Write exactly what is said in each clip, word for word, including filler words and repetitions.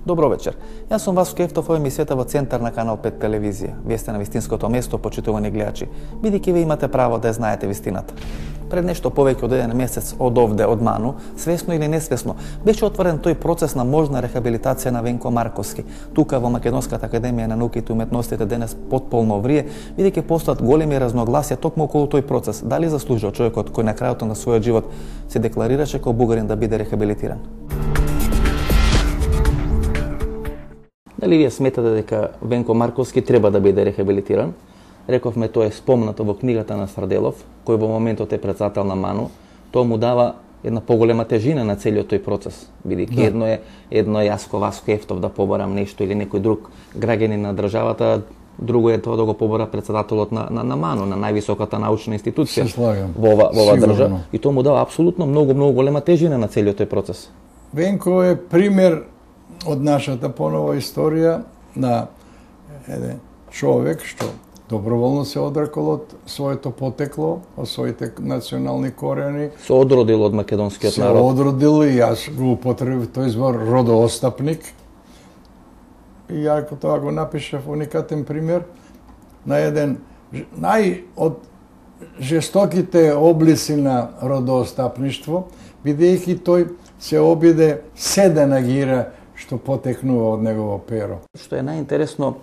Добро вечер. Јас сум Васко Ефтов, ова емисијата во центар на Канал пет телевизија. Вие сте на вистинското место, почитувани гледачи, бидејќи вие имате право да ја знаете вистината. Пред нешто повеќе од еден месец од овде, од Ману, свесно или несвесно, беше отворен тој процес на можна рехабилитација на Венко Марковски. Тука во Македонската академија на науките и уметностите денес потполно врие, бидејќи постојат големи разногласија токму околу тој процес. Дали заслужува човекот кој на крајот на својот живот се декларираше како бугарин да биде рехабилитиран? Дали вие сметате дека Венко Марковски треба да биде рехабилитиран? Рековме, тоа е спомнато во книгата на Старделов, кој во моментот е председател на Ману. Тоа му дава една поголема тежина на целиот тој процес. Бидејќи да. едно е едно е јас ко Васко Ефтов да побарам нешто или некој друг граѓанин на државата, друго е тоа да го побара председателот на, на, на Ману, на највисоката научна институција во ова, во ова држава. И тоа му дава апсолутно многу, многу голема тежина на целиот тој процес. Венко е пример од нашата понова историја на еден човек што доброволно се одрекол од своето потекло, од своите национални корени. Се одродил од македонскиот народ. Се одродил и јас го употребив тој збор родоостапник. И ја тоа го напишав уникатен пример на еден нај од жестоките облици на родоостапништво, бидејќи тој се обиде се да нагира што потекнува од негово перо. Што е најинтересно,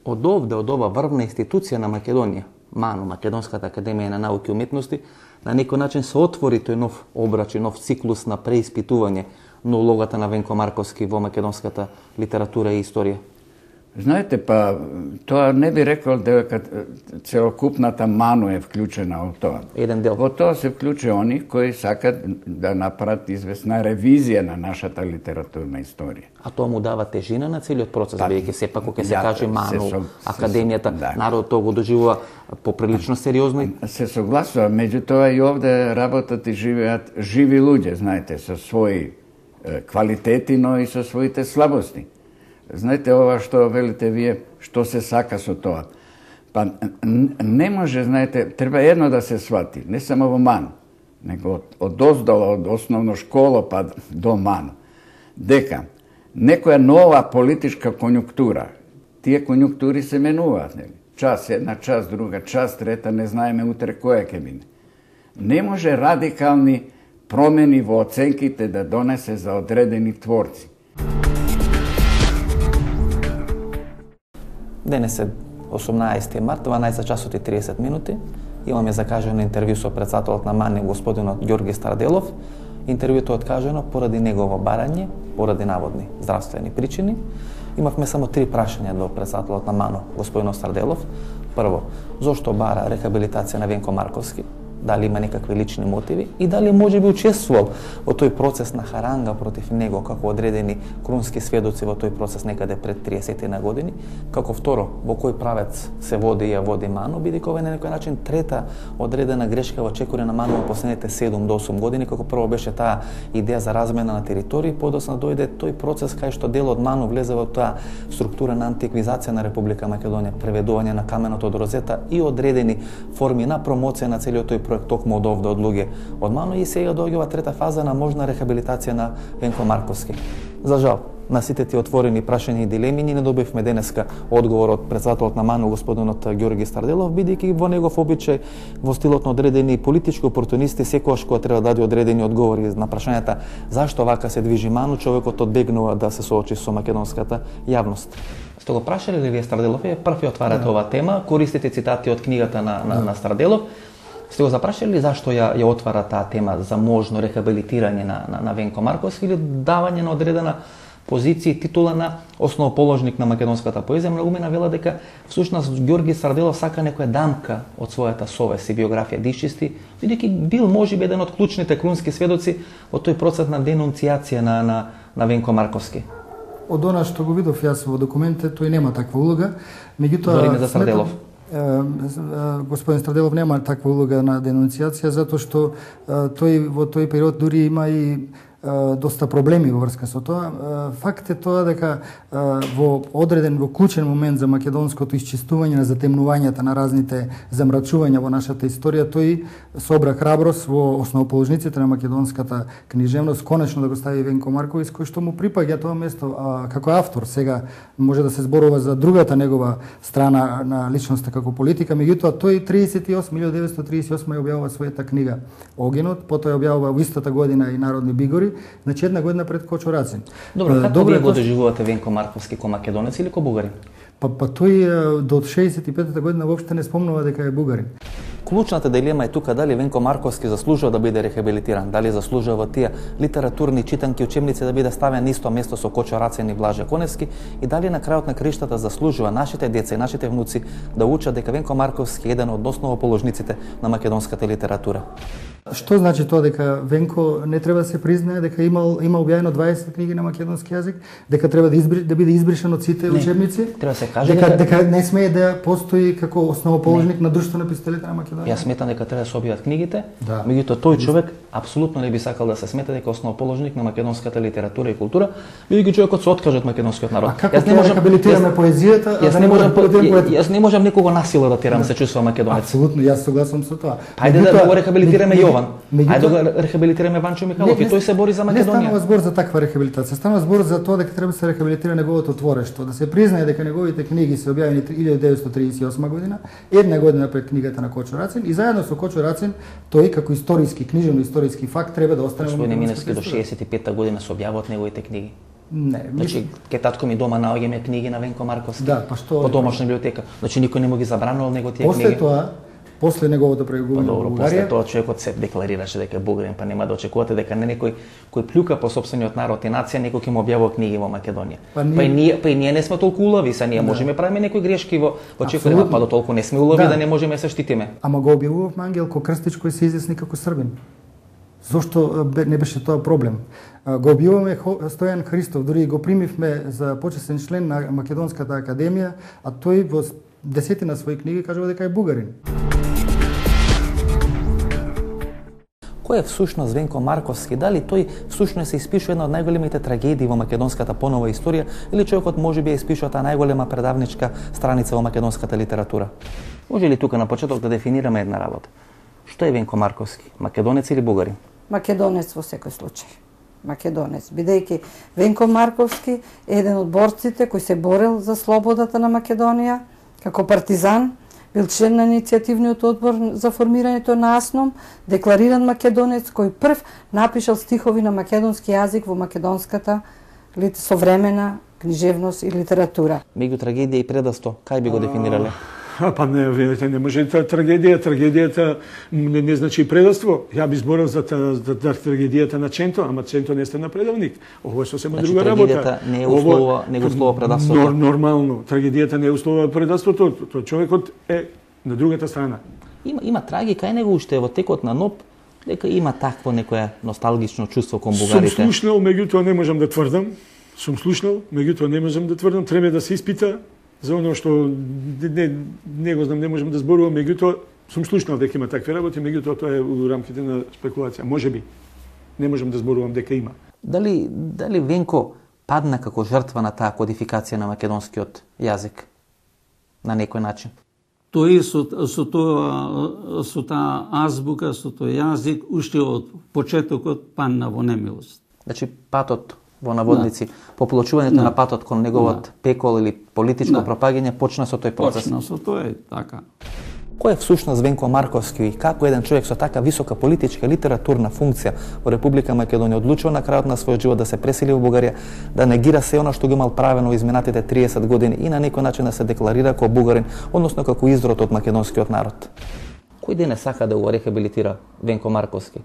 од овде, од ова врвна институција на Македонија, Ману, Македонската академија на науки и уметности, на некој начин се отвори тој нов обрач и нов циклус на преиспитување на улогата на Венко Марковски во македонската литература и историја. Знаете, па, тоа не би рекол дека целокупната Ману е вклучена во тоа. Еден дел. Во тоа се вклучи они кои сакат да направат известна ревизија на нашата литературна историја. А тоа му дава тежина на целиот процес, Па, бидејќи сепак кога се ја, каже Ману, се, академијата, се, да. народот тоа го доживува поприлично сериозно. Се согласува, меѓутоа и овде работат и живеат живи луѓе, знаете, со своји е, квалитети, но и со своите слабости. Знаете, ова што велите вие, што се сака со тоа. Па не може, знаете, треба едно да се свати, не само во Ману, него од, од оздола, од основно школа па до Ману, дека некоја нова политичка конјунктура, тие конјунктури се менуваат, нели? Час една, час друга, час трета, не знаеме утре која ќе биде. Не може радикални промени во оценките да донесе за одредени творци. Денес е осумнаесети март, дванаесет часот и триесет минути. Имаме закажано интервју со председателот на Мани, господинот Ѓорги Старделов. Интервјуто е откажано поради негово барање, поради наводни здравствени причини. Имавме само три прашања до председателот на Ману, господинот Старделов. Прво, зошто бара рехабилитација на Венко Марковски? Дали има некакви лични мотиви и дали може би учествувал во тој процес на харанга против него како одредени крунски сведоци во тој процес некаде пред триесет на години. Како второ, во кој правец се води и ја води Ману, бидејќи ова е на некој начин трета одредена грешка во чекоре на Ману во последните седум до осум години, како прво беше таа идеја за размена на територии, подоцна дојде тој процес кај што дел од Ману влезе во таа структура на антиквизација на Република Македонија, преведување на каменото од Розета и одредени форми на промоција на целиот тој проект токму од овде од луѓе од Ману, и сега доаѓа трета фаза на можна рехабилитација на Венко Марковски. За жал, на сите ти отворени прашања и дилеми ни не добивме денеска одговор од председателот на Ману, господинот Ѓорги Старделов, бидејќи во негов обичај, во стилот на одредени политички опортунисти, секогаш кога треба да даде одредени одговори на прашањата зашто вака се движи Ману, човекот одбегнува да се соочи со македонската јавност. Сте го прашале ли вие Старделов? Е први отварате да. Ова тема, користите цитати од книгата на, на, на Старделов. Сте го запрашали зашто ја, ја отвара таа тема за можно рехабилитирање на, на, на Венко Марковски или давање на одредена позиција и титула на основоположник на македонската поезија? Многумина вела дека всушност Ѓорги Старделов сака некоја дамка од својата совест и биографија да исчисти, бидејќи бил можеби еден од клучните крунски сведоци во тој процес на денунцијација на, на, на Венко Марковски. Од она што го видов јас во документите, тој нема таква улога, меѓутоа Зориме за Старделов. Господин Старделов нема таква улога на денунцијација, затоа што тој во тој период дури има и доста проблеми во врска со тоа. Факт е тоа дека во одреден, во клучен момент за македонското исчистување на затемнувањата на разните замрачувања во нашата историја, тој собра храброст во основоположниците на македонската книжевност, конечно да го стави Венко Марковиќ, кој што му припаѓа тоа место а, како автор. Сега може да се зборува за другата негова страна на личноста како политика, меѓутоа тој триесет и осма, илјадесетстотини деветстотиридесет и осма ја објавува својата книга Огинот, потоа ја објавува во истата година и Народни бигори, значи една година пред Кочо Рацин. Добро, како вие го доживувате Венко Марковски, ко македонец или ко бугарин? Па, па тој до шеесет и петата година воопште не спомнува дека е бугарин. Клучната дилема е тука дали Венко Марковски заслужува да биде рехабилитиран, дали заслужува тие литературни читанки учебници да биде ставен на исто место со Кочо Рацин и Блаже Коневски, и дали на крајот на криштата заслужува нашите деца и нашите внуци да учат дека Венко Марковски е еден од основоположниците на македонската литература. Што значи тоа дека Венко не треба да се признае дека имал има објавено дваесет книги на македонски јазик, дека треба да избри, да биде избришен од сите не, учебници? Треба да се каже дека, дека дека не смее да постои како основоположник не. на друштво на писателите на Македонија. Јас сметам дека треба да се објават книгите, да. Меѓутоа тој човек апсолутно не би сакал да се смета дека основоположник на македонската литература и култура, бидејќи човекот се откаже од македонскиот народ. А како јас не можам рехабилитираме поезијата, а јас не можам јас не можам никого насила да терам да. се чувствува македонец. Апсолутно, јас согласувам со тоа. Ајде да го рехабилитираме Јован. Ајде да го рехабилитираме Ванчо Михайлов, и тој се бори за Македонија. Не станува збор за таква рехабилитација, станува збор за тоа дека треба да се рехабилитира неговото творештво, да се признае дека неговите книги се објавени илјадесетстотини триесет и осма година, една година пред книгата на Кочо Рацин, и заедно со Кочо Рацин тој како историски, книжевно историски факт треба да остане во Господине Миневски до шеесет и петта година се објавуваат неговите книги. Не, значи ке татко ми дома наоѓаме книги на Венко Марковски. Да, па што по домашна библиотека. Значи никој не му ги забранувал него тие после книги. После тоа после неговото преговорање во Бугарија. После тоа човекот се декларираше дека е бугарин, па нема да очекувате дека не некој кој плюка по сопствениот народ и нација некој ќе му објавува книги во Македонија. Па, ние... па и ние па и ние не сме толку улови, са ние да. можеме правиме некои грешки во во чекорima, па до толку не сме улови да, да не можеме да се штитиме. Ама го објавував Ангелко Крстич кој се изјасни како србин. Зошто не беше тоа проблем? Го објавуваме Стојан Христов, дури го примивме за почесен член на Македонската академија, а тој во десетина своји книги кажува дека е бугарин. Кој е всушност Венко Марковски? Дали тој всушност се испишува една од најголемите трагедии во македонската понова историја, или човекот можеби ја испишува таа најголема предавничка страница во македонската литература? Може ли тука на почеток да дефинираме една работа? Што е Венко Марковски? Македонец или бугарин? Македонец во секој случај. Македонец, бидејќи Венко Марковски е еден од борците кој се борел за слободата на Македонија како партизан, бил член на иницијативниот одбор за формирањето на АСНОМ, деклариран македонец кој прв напишал стихови на македонски јазик во македонската современа книжевност и литература. Меѓу трагедија и предавство, кај би го дефинирале? А, па не, видите, не може трагедија, трагедијата не, не значи предавство. Ја би зборил за, за, за трагедијата на Ченто, ама Ченто не сте на предавник. Ово е сосема значи, друга работа. Трагедијата не е услова, не го услова предавството. Нор, нормално, трагедијата не е услова предавството, тоа човекот е на другата страна. Има има трагика, е него уште во текот на НОП, дека има такво некое носталгично чувство кон бугарите. Сум слушнал, меѓутоа не можам да тврдам. Сум слушнал, меѓутоа не можам да тврдам, треба да се испита за оно што не, не го знам, не можам да зборувам, меѓутоа сум слушнал дека има такви работи, меѓутоа тоа е у рамките на спекулација. Можеби. Не можам да зборувам дека има. Дали дали Венко падна како жртва на таа кодификација на македонскиот јазик на некој начин? Тој со, со тоа со таа азбука, со тој јазик уште од почетокот падна во немилост. Значи патот во наводници, да. Поплочувањето да. на патот кон неговот да. пекол или политичко да. пропагање почна со тој процес. Почна со тоа, така. Кој е всушност Венко Марковски и како еден човек со така висока политичка и литературна функција во Република Македонија одлучува на крајот на својот живот да се пресели во Бугарија, да негира се она што го имал правено во изминатите триесет години и на некој начин да се декларира како бугарин, односно како изрод од македонскиот народ? Кој ден е сака да го рехабилитира Венко Марковски?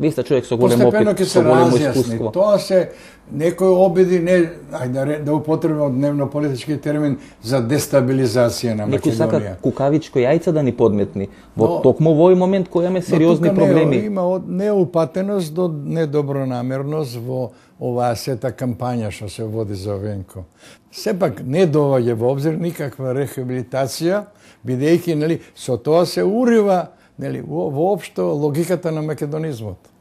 Ви сте човек со голем опит, со големо искуство. Тоа се некој обиди, не, ајде да употребам дневно политички термин, за дестабилизација на Македонија. Некој сака кукавичко јајце да ни подметни во но, токму овој момент кој имаме сериозни но проблеми. Не, има од неупатеност до недобронамерност во оваа сета кампања што се води за Венко. Сепак не доаѓа во обзир никаква рехабилитација, бидејќи нели со тоа се урива нели воопшто логиката на македонизмот.